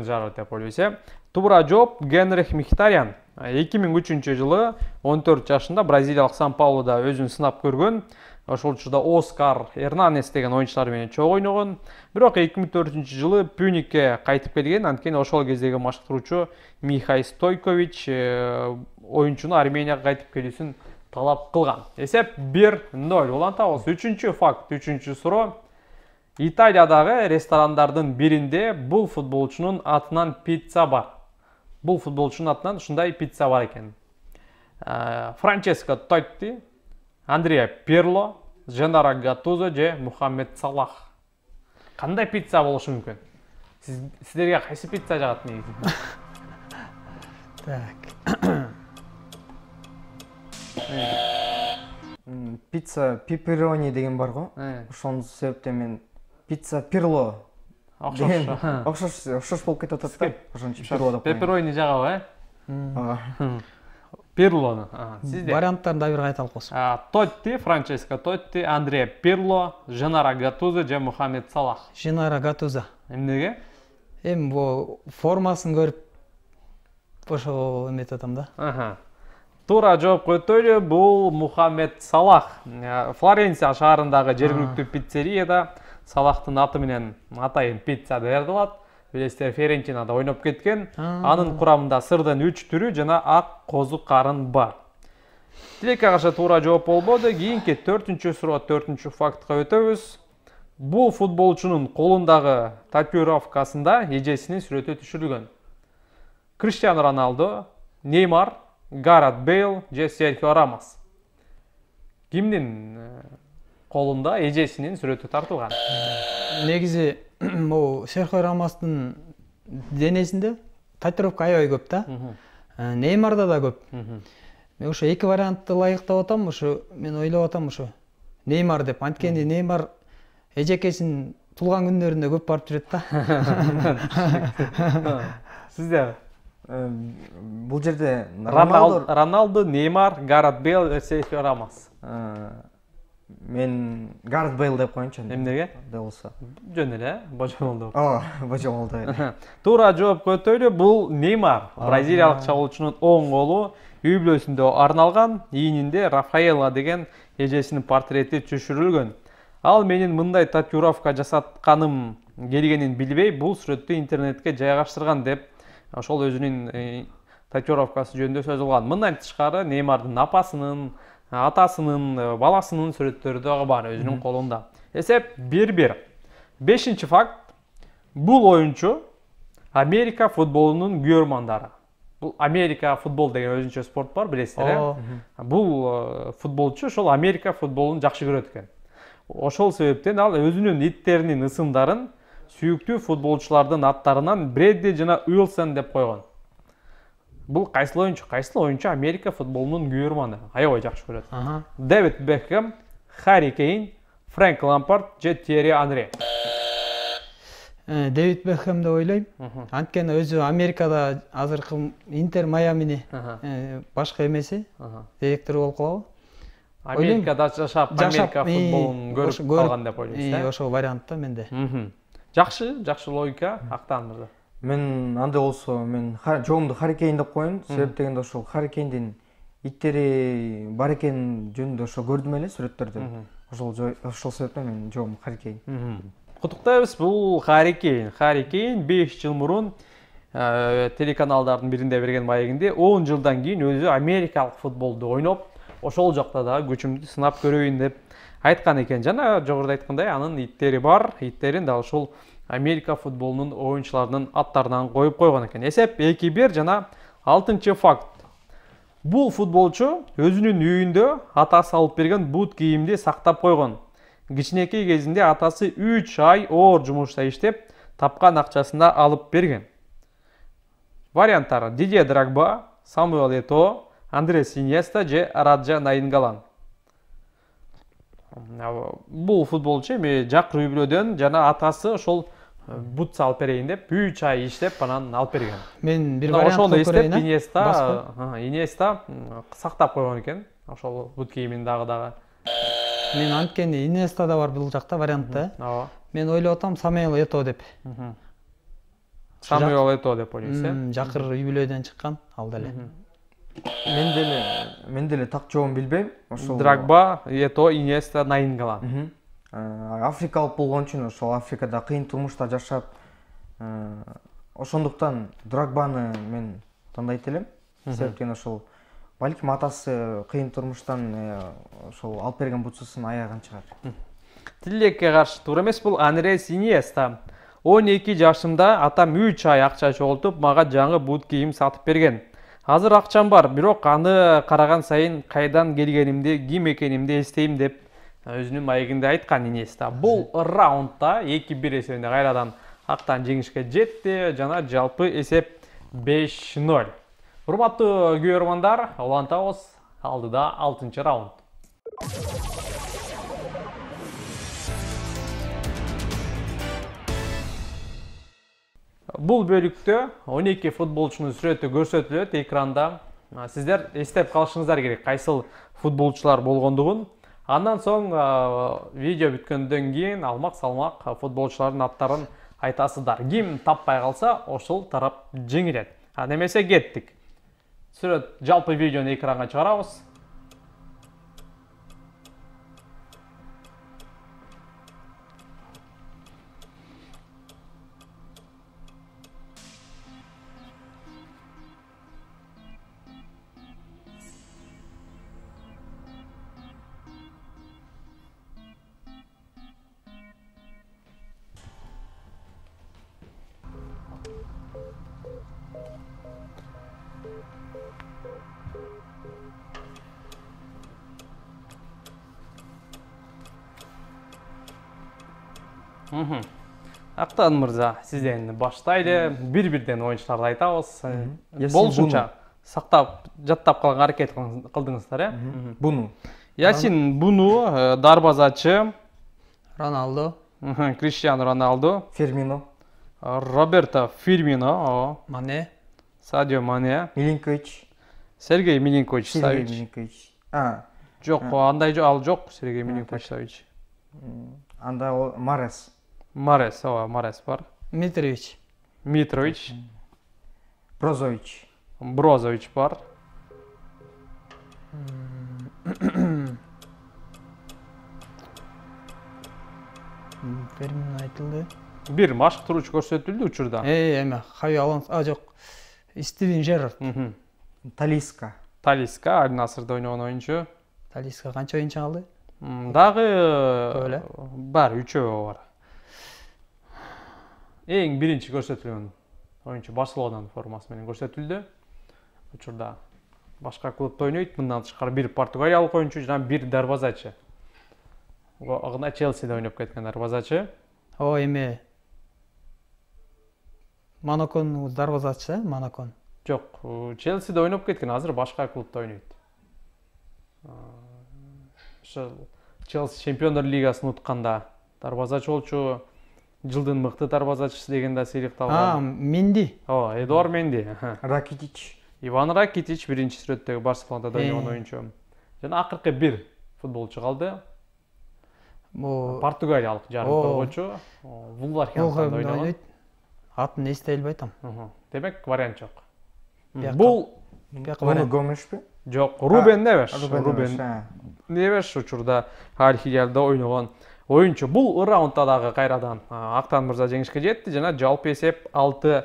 Жеррард деп ойлойсуз. Туура жооп Генрих Мхитарян. 2003 жылы 14 жашында Бразилиялык Сан-Паулуда өзүн сынап көргөн. ошол учурда Оскар Эрнанес деген оюнчулар менен чогуу ойногон. Бирок 2004-жылы Пюникке кайтып келген. Анткени ошол кездеги машыктыруучу Михай Стойкович оюнчуну Арменияга кайтып келүүсүн талап кылган. Эсеп 1-0. Улантабыз. 3-чү факт, 3-чү суроо. Италиядагы ресторандардын биринде бул футболчунун атынан пицца бар. Бул футболчунун атынан ушундай пицца бар экен. Франческо Тотти, Андреа Пирло, Женаро Гаттузо же Мухаммед Салах. Кандай пицца болушу мүмкүн? Сиздерге кайсы пицца жагат негизи? Так. Пицца пепперони деген бар го. Ошонун себептен мен пицца Пирло деген окшош болуп кетип атат да. Ошон үчүн Пирло деп коем. Пепперони жагабы, Пирлону. Сизде Варианттарын да бир кайталып койсун. Тотти, Франческо Тотти, Андреа Пирло, Женаро Гаттузо же Мухаммед Салах. Женаро Гаттузо. Эмнеге? Эми бул формасын көрүп ошо эметип атам да. Туура жооп көтөлү, бул Мухаммед Салах. Флоренция шаарындагы жергиликтүү пиццерияда Салахтын аты менен атайын пицца даярдалат. Билесиздер, Ферентинада ойноп кеткен. Анын курамында сырдын 3 түрү жана ак козу карын бар. Тилекке каршы туура жооп болбоду. Кийинки 4-чү суроо, 4-чү фактка өтөбүз. Бул футболчунун колундагы татуировкасында эжесинин сүрөтү түшүрүлгөн. Криштиану Роналдо, Неймар, Гарет Бейл же Серхио Рамос. Кимдин колунда эжесинин сүрөтү тартылган? Негизи могу Серхио Рамостун денесинде татуировка аябай көп да. Неймарда да көп. Мен ошо эки вариантты ылайыктап атам, ошо мен ойлоп атам ошо Неймар деп. Анткени Неймар эжекесин туулган күндөрүндө көп барып жүрөт да. Сизде Бул жерде Роналдо, Неймар, Гарет Бейл, Серхио Рамос. Мен Гарет Бейл деп коеюнчу. Эмнеге? Да болсо. Жөн эле, божомолду. Божомолду. Туура жооп көтөлү, бул Неймар, бразилиялык чабуулчунун оң колу үй бүлөсүндө арналган, ийининде Рафаэла деген эжесинин портрети түшүрүлгөн. Ал менин мындай татуировка жасатканым келгенин билбей, бул сүрөттү интернетке жайгаштырган деп ошол өзүнүн татуировкасы жөнүндө сөз кылган. Мындан тышкары Неймардын апасынын, атасынын, баласынын сүрөттөрү дагы бар өзүнүн колунда. Эсеп 1-1. 5-чи факт. Бул оюнчу Америка футболунун күйөрмандары. Бул Америка футбол деген өзүнчө спорт бар, билесиздер, Бул футболчу ошол Америка футболун жакшы көрөт экен. Ошол себептен ал өзүнүн иттеринин ысымдарын сүйүктүү футболчулардын аттарынан Бредди жана Уилсон деп койгон. Бул кайсыл оюнчу? Кайсыл оюнчу Америка футболунун күйөрманы? Аябай жакшы көрөт. Дэвид Бекхэм, Харри Кейн, Фрэнк Лампард же Тьерри Анри? Дэвид Бекхэм деп ойлойм. Анткени өзү Америкада азыркы Интер Майамини башкы эмеси, директору болуп калабы? Америкада жашап, Америка футболун көрүп калган деп ойлойсуз? Ошол вариантта менде. Жакшы логика, Актан мырза. Мен андай болсо, мен жоомду Харри Кейн деп коеюн. Себеп дегенде ошол Харри Кейндин иттери бар экени жөнүндө ошо көрдүм эле сүрөттөрдү. Ошол себептен мен жоом Харри Кейн. Куттуктайбыз, бул Харри Кейн. Харри Кейн 5 жыл мурун телеканалдардын биринде берген маегинде 10 жылдан кийин өзү америкалык футболду ойноп, ошол жакта да күчүмдү сынап көрөйүн деп айткан экен. Жана жогоруда айткандай, анын иттери бар. Иттерин да ошол Америка футболунун оюнчуларынын аттарынан коюп койгон экен. Эсеп 2-1 жана 6-чы факт. Бул футболчу өзүнүн үйүндө атасы алып берген бут кийимди сактап койгон. Кичинекей кезинде атасы 3 ай оор жумушта иштеп, тапкан акчасында алып берген. Варианттар: Дидье Дрогба, Самуэл Этоо, Андрес Иньеста же Раджа Найнгалан. Бул футболчу эми жакыр үй бүлөдөн жана атасы ошол бут салып берейин деп 3 ай иштеп анан алып берген. Мен бир вариант көрөйүн. Иньеста сактап койгон экен ошол бут кийимин дагы. Мен анткени Иньеста да бар бул жакта вариантта. Мен ойлоп атам Самуэл Этоо деп. Самуэл Этоо деп ойлойсуз, Жакыр үй бүлөдөн чыккан ал деле. Мен деле так жообун билбейм. Ошол Драгба, Ето, Иньеста, Наингgolan. Африкалык болгон үчүн ошол Африкада кыйын турмушта жашап, ошондуктан Драгбаны мен тандайт элем. Себептен ошол балким атасы кыйын турмуштан ошол алып берген бутсусун аяган чыгар. Тилекке каршы туура эмес, бул Андрес Иньеста. 12 жашымда атам 3 ай акча чогултуп, мага жаңы бут кийим сатып берген. Азыр акчам бар, бирок аны караган сайын кайдан келгенимди, ким экенимди эстейм деп өзүнүн маегинде айткан Иньеста. Бул раундда 2-1 эсебинде кайрадан актан жеңишке жетти жана жалпы эсеп 5-0. Урматтуу көрөрмандар, улантабыз, алдыда 6-чы раунд. Бул бөлүктө 12 футболчунун сүрөтү көрсөтүлөт экранда. Сиздер эстеп калышыңыздар керек кайсыл футболчулар болгондугун. Андан соң видео бүткөндөн кийин алмак-салмак футболчулардын аттарын айтасыздар. Ким таппай калса, ошол тарап жеңилет. Немесе кеттик. Сүрөт жалпы видеону экранга чыгарабыз. Актан мырза, сизден баштайлы. Бир-бирден оюнчуларды айтабыз. Болушунча сактап, жаттап калганга аракет кылдыңыздар, э? Буну. Ясин Буну, дарбазачы. Роналдо. Криштиану Роналдо. Фермино. Роберто Фирмино. Мане. Садио Мане. Милинкович. Сергей Милинкович Савич. Милинкович. Жок, андай ал жок, Сергей Милинкович Савич. Анда Марес. Марес бар. Митрович. Митрович. Брозович. Брозович бар. Фермин айтылды. Бир машыктыруучу көрсөтүлдү учурда. Эме, Хави Алонсо, жок. Стивен Жеррард. Талиска. Талиска, Аль Насырда ойногон оюнчу. Талиска канча оюнчу калды? Дагы бар, 3 бар. Эң биринчи көрсөтүлгөн оюнчу Барселонанын формасы менен көрсөтүлдү. Учурда башка клубда ойнойт, мындан тышкары бир португалиялык оюнчу жана бир дарбазачы. Агына Челсиде ойноп кеткен дарбазачы. Эме. Монаконун дарбазачысы, Монакон. Жок, Челсиде ойноп кеткен, азыр башка клубда ойнойт. Ошо Челси Чемпиондор лигасын утканда дарбазачы болчу. Жылдын мыкты дарбазачысы деген да сыйлыкталган. Менди. Эдуард Менди. Ракитич. Иван Ракитич биринчи сүрөттөгү Барселонада ойногон оюнчу. Жана акыркы бир футболчу калды. Португалиялык жарым коргоочу. Вулверхэмптонда ойногон. Атын эстей албай атам. Демек вариант жок. Бул Бруно Гомешпи? Жок, Рубен Невеш. Рубен Невеш учурда Аль-Хилялда ойногон оюнчу. Бул раундда дагы кайрадан Актан мырза жеңишке жетти жана жалпы эсеп 6-0.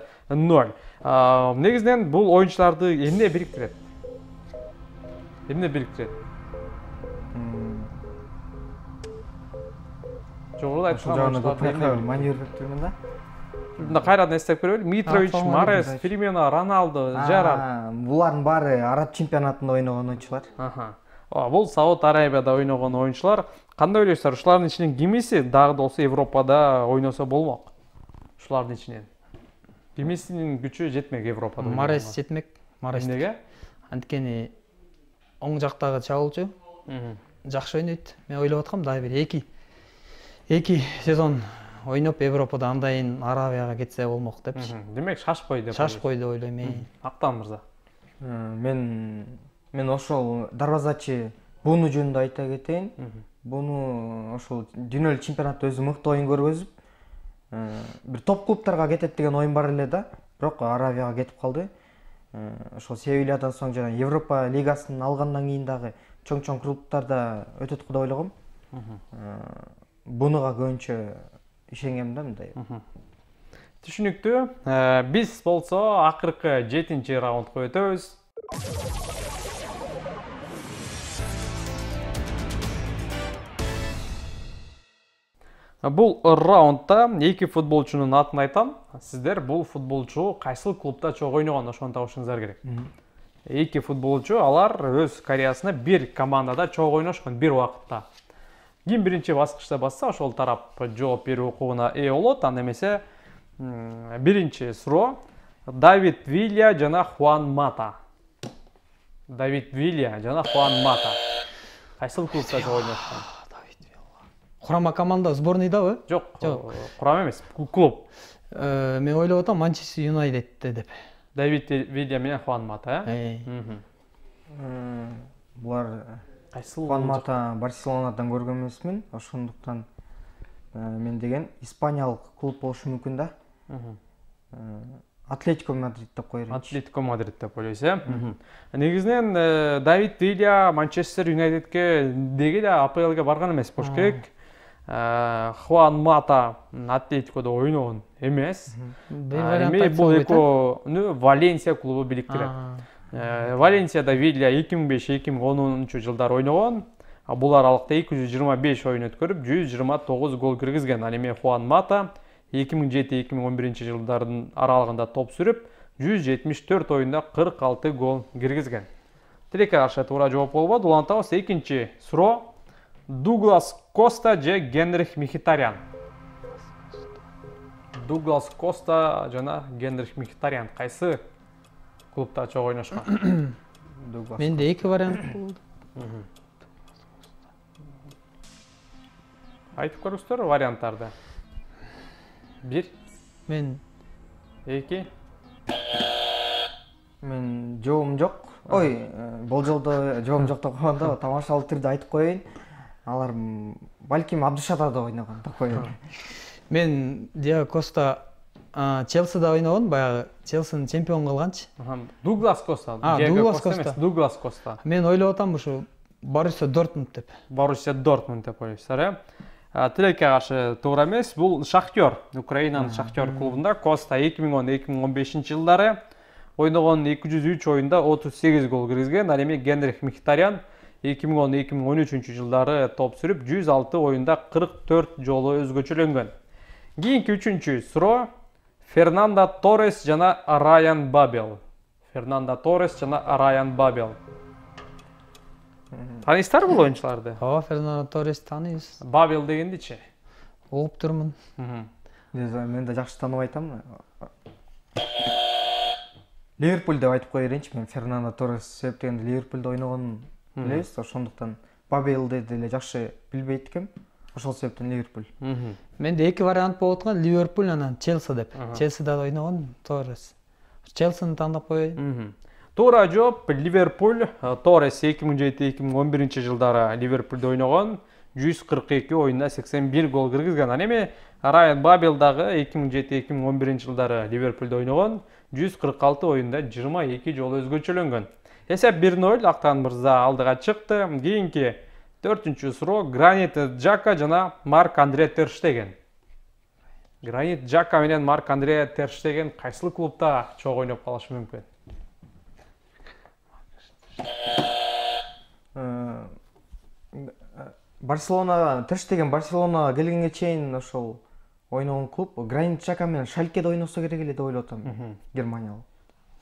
Негизинен бул оюнчуларды эмне бириктирет? Жогоруда айткан манер бериптирмин да. Мында кайрадан эстеп көрөлү. Митрович, Марес, Фирмино, Роналдо, Жеррард. Булардын баары Араб чемпионатында ойногон оюнчулар. Бул Сауд Арабияда ойногон оюнчулар. Кандай ойлойсуздар? Ушулардын ичинен кимиси дагы да болсо Европада ойносо болмок? Ушулардын ичинен. Кимисинин күчү жетмек Европада? Марес жетмек. Марес. Эмнеге? Анткени оң жактагы чабуулчу жакшы ойнойт. Мен ойлоп аткам дагы бир 2 сезон ойноп Европада андайын Арабияга кетсе болмок депчи. Демек шашпой деп. Шашпой деп ойлойм. Актан мырза. Мен ошол дарбазачы Буну жөнүндө айта кетейин. Буну ошол дүйнөлүк чемпионатта өзү мыкты оюн көргөзүп, бир топ клубтарга кетет деген оюн бар эле да, бирок Арабияга кетип калды. ошол Севильядан соң жана Европа лигасын алгандан кийин дагы чоң клубтарда өтөт го деп ойлогом. Бунуга көбүнчө ишенгем да мындай. Түшүнүктүү. Биз болсо акыркы 7-чи раундга өтөбүз. Бул раундда эки футболчунун атын айтам. Сиздер бул футболчу кайсыл клубда чогуу ойногон ошону табышыңыздар керек. Эки футболчу алар өз карьерасында бир командада чогуу ойношкон бир убакытта. Ким биринчи баскычта басса, ошол тарап жооп берүү укугуна ээ болот. Анда эмесе биринчи суроо Давид Вилья жана Хуан Мата. Давид Вилья жана Хуан Мата. Кайсыл клубда чогуу ойношкон? Курама команда сборныйдабы? Жок, курам эмес, клуб. Мен ойлоп атам Манчестер Юнайтедте деп. Давид Вилья менен Хуан Мата, Булар кайсыл? Хуан Мата Барселонадан көргөн эмесмин, ошондуктан мен деген Испаниялык клуб болушу мүмкүн да. Атлетико Мадрид деп коермин. Атлетико Мадрид деп ойлойсуз, Негизинен Давид Вилья Манчестер Юнайтедке деги эле АПЛге барган эмес болуш керек. Хуан Мата Атлетикодо ойногон эмес. Бул экөө Валенсия клубу бириктирет. Валенсияда Вилья 2005-2010 жылдары ойногон. Бул аралыкта 225 оюн өткөрүп, 129 гол киргизген. Ал эми Хуан Мата 2007-2011 жылдардын аралыгында топ сүрүп, 174 оюнда 46 гол киргизген. Тилекке каршы туура жооп болбоду. Улантабыз. Экинчи суроо Дуглас Коста же Генрих Мхитарян. Дуглас Коста жана Генрих Мхитарян кайсы клубда чогуу ойношкон? Менде эки вариант болду. Айтып көрүңүздөр варианттарды. 1. Мен 2. Мен жообум жок. Ой, бул жолдо жообум жок деп койгондо тамашалуу түрдө айтып коеюн. Алар балким Абдышатарда ойногон деп коеюн. Мен Диаго Коста Челсида ойногон, баягы Челсини чемпион кылганчы. Дуглас Коста. Дуглас Коста. Дуглас Коста. Мен ойлоп атам ушу Боруссия Дортмунд деп. Боруссия Дортмунд деп ойлойсуздар, Тилекке каршы туура эмес. Бул Шахтер, Украинанын Шахтер клубунда Коста 2010-2015 жылдары ойногон 203 оюнда 38 гол киргизген. Ал эми Генрих Мхитарян 2010-2013 жылдары топ сүрүп, 106 оюнда 44 жолу өзгөчөлөнгөн. Кийинки үчүнчү суроо Фернандо Торрес жана Райан Бабел. Фернандо Торрес жана Райан Бабел. Таанысыздарбы бул оюнчуларды? Ооба, Фернандо Торрес тааныйбыз. Бабел дегендичи? Угуп турмун. Мен да жакшы таанып айтам. Ливерпуль деп айтып кое берейинчи. Мен Фернандо Торрес себептен Ливерпулда ойногонун билебиз, ошондуктан Бабелди деле жакшы билбейт экем. Ошол себептен Ливерпуль. Менде эки вариант болуп аткан, Ливерпуль анан Челси деп. Челсида ойногон Торрес. Челсини тандап коеюн. Туура жооп Ливерпуль. Торрес 2007-2011 жылдары Ливерпулда ойногон, 142 оюнда 81 гол киргизген. Ал эми Райан Бабел дагы 2007-2011 жылдары Ливерпулда ойногон, 146 оюнда 22 жолу өзгөчөлөнгөн. Эсеп 1-0, Актан мырза алдыга чыкты. Кийинки 4-чү суроо Гранит Джака жана Марк Андре Тер Штеген. Гранит Джака менен Марк Андре Тер Штеген кайсыл клубда чогуу ойноп калышы мүмкүн? Барселона, Тер Штеген Барселонага келгенге чейин ошол ойногон клуб Гранит Джака менен Шалькеде ойносо керек эле деп ойлоп атам. Германиялык.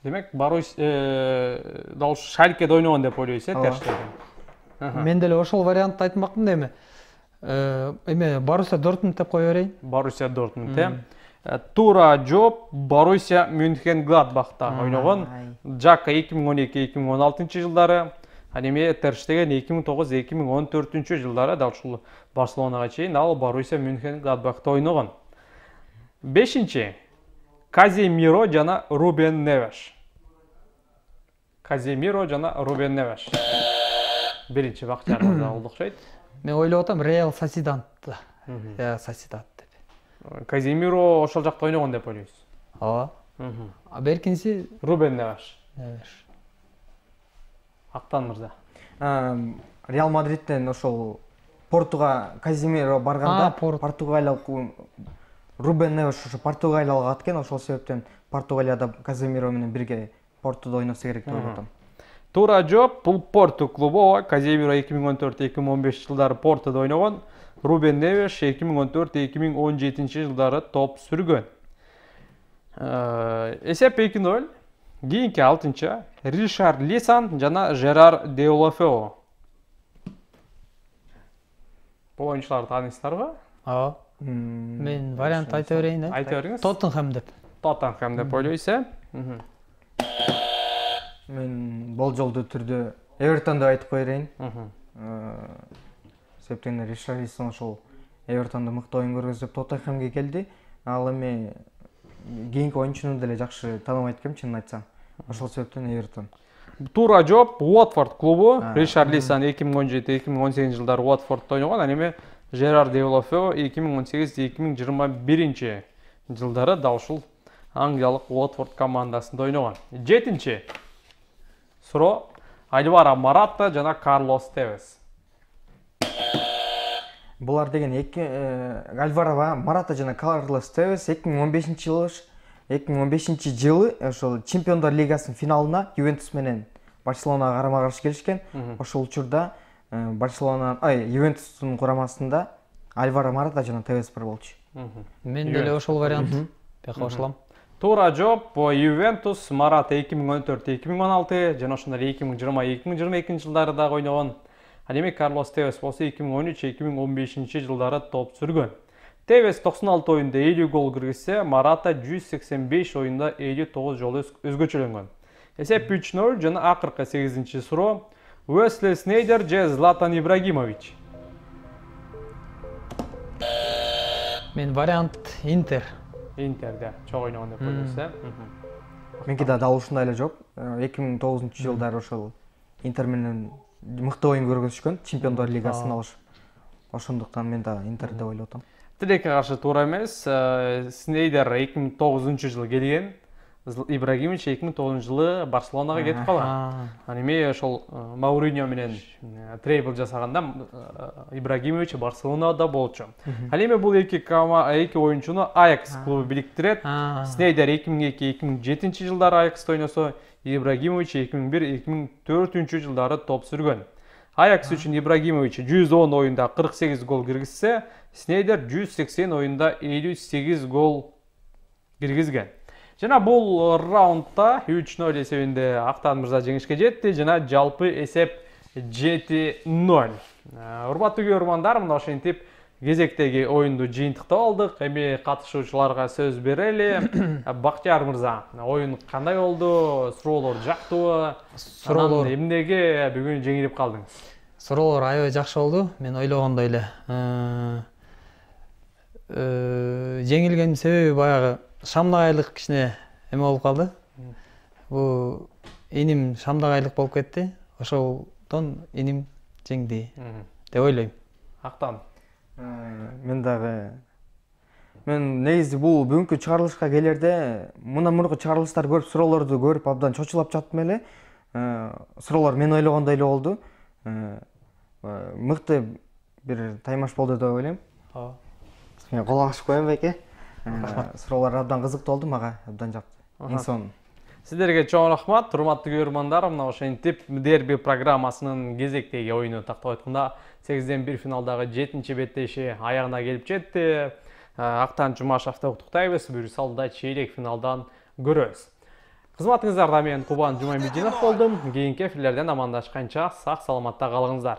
Демек, дал Шалькеде ойногон деп ойлойсуз, Тер Штеген? Мен деле ошол вариантты айтмакмын да эме Боруссия Дортмунд деп кое берейин. Боруссия Дортмунд, Туура жооп Боруссия Мюнхен-Гладбахта ойногон. Джака 2012-2016 жылдары, ал эми Тер Штеген 2009-2014 жылдары дал ушул Барселонага чейин ал Боруссия Мюнхен-Гладбахта ойногон. 5-чи Каземиро жана Рубен Невеш. Каземиро жана Рубен Невеш. Биринчи Бактияр мырза болду окшойт. Мен ойлоп атам Реал Сосидадта. Сосидад деп. Каземиро ошол жакта ойногон деп ойлойсуз? Ооба. А беркинси Рубен Невеш. Актан мырза. Реал Мадридтен ошол Португа Казимиро барганда португалиялык Рубен Невеш ошо Португалияга кеткен, ошол себептен Португалияда Казимиро менен бирге Портуда ойносо керек деп ойлоп атам. Туура жооп, бул Порту клубу. Казимиро 2014-2015 жылдары Портуда ойногон. Рубен Невеш 2014-2017 жылдары топ сүргөн. Эсеп 2-0. Кийинки 6-чы Ришар Лисан жана Жерар Деулафео. Бул оюнчуларды тааныйсыздарбы? Ооба. Мен вариант айта берейин да. Айта бериңиз. Тоттенхэм деп. Тоттенхэм деп ойлойсуз. Мен болжолдуу түрдө Эвертон деп айтып коерейин. Себептен Ришар Лисан ошол Эвертондо мыкты оюн көргөзүп Тоттенхэмге келди. Ал эми кийинки оюнчуну деле жакшы тааныбайт экенмин, чынын айтсам. Ошол себептен Эвертон. Туура жооп, Уотфорд клубу. Ришар Лисан 2017-2018 жылдары Уотфордто ойногон, ал эми Жерар Деулафео 2018-2021 жылдары да ушул Англиялык Уотфорд командасында ойногон. 7-чи суроо Альваро Марата жана Карлос Тевес. Булар деген Альваро Марата жана Карлос Тевес 2015 жылы ошол Чемпиондар лигасынын финалына Ювентус менен Барселонага карама-каршы келишкен. Ошол учурда Ювентустун курамасында Альваро Марата жана Тевес бар болчу. Мен деле ошол вариант бияка кошулам. Туура жооп, Ювентус Марата 2014-2016 жана ошондой 2020-2022 жылдары дагы ойногон. Ал эми Карлос Тевес болсо 2013-2015 жылдары топ сүргөн. Тевес 96 оюнда 50 гол киргизсе, Марата 185 оюнда 59 жолу өзгөчөлөнгөн. Эсеп 3-0 жана акыркы 8-чи суроо Уэсли Снейдер же Златан Ибрагимович. Мен вариант Интер. Интерде чоң ойногон деп ойлойсуз. Меники да дал ушундай эле жооп. 2009 жылдары ошол Интер менен мыкты оюн көргөзүшкөн, Чемпиондар лигасын алышып. Ошондуктан мен да Интер деп ойлоп атам. Тилекке каршы туура эмес. Снейдер 2009 жылы келген, Ибрагимович 2009 жылы Барселонага кетип калган. Ал эми ошол Мауриньо менен трейбл жасаганда Ибрагимович Барселонада болчу. Ал эми бул эки оюнчуну Аякс клубу бириктирет. Снейдер 2002-2007 жылдары Аякста ойносо, Ибрагимович 2001-2004 жылдары топ сүргөн. Аякс үчүн Ибрагимович 110 оюнда 48 гол киргизсе, Снейдер 180 оюнда 58 гол киргизген. Жана бул раундда 3-0 эсебинде Актан мырза жеңишке жетти жана жалпы эсеп 7-0. Урматтуу көрөрмандар, мына ошентип кезектеги оюнду жыйынтыктап алдык. Эми катышуучуларга сөз берели. Бактияр мырза, оюн кандай болду? Суроолор жактыбы? Суроолор эмнеге бүгүн жеңилип калдыңыз? Суроолор аябай жакшы болду. Мен ойлогондой эле. Жеңилгенин себеби баягы шамдагайлык кичине эме болуп калды. Бул иним шамдагайлык болуп кетти. Ошондон иним жеңди деп ойлойм. Актан. Мен негизи бул бүгүнкү чыгарылышка келерде мындан мурунку чыгарылыштар көрүп, суроолорду көрүп абдан чочулап жаттым эле. Суроолор мен ойлогондой эле болду. Мыкты бир таймаш болду деп ойлойм. Мен кол агышып коеюн беке. Суроолор абдан кызыктуу болду, мага абдан жакты. Эң сонун. Сиздерге чоң рахмат, урматтуу көрөрмандар. Мына ошентип дерби программасынын кезектеги оюну тактап айтканда 8-1 финалдагы 7-чи беттеши аягына келип жетти. Актан Жумашевди куттуктайбыз. Буюрса алда чейлек финалдан көрөбүз. Кызматыңыздарда мен Кубан Жумамединов болдум. Кийинки эфирлерден амандашканча сак саламатта калыңыздар.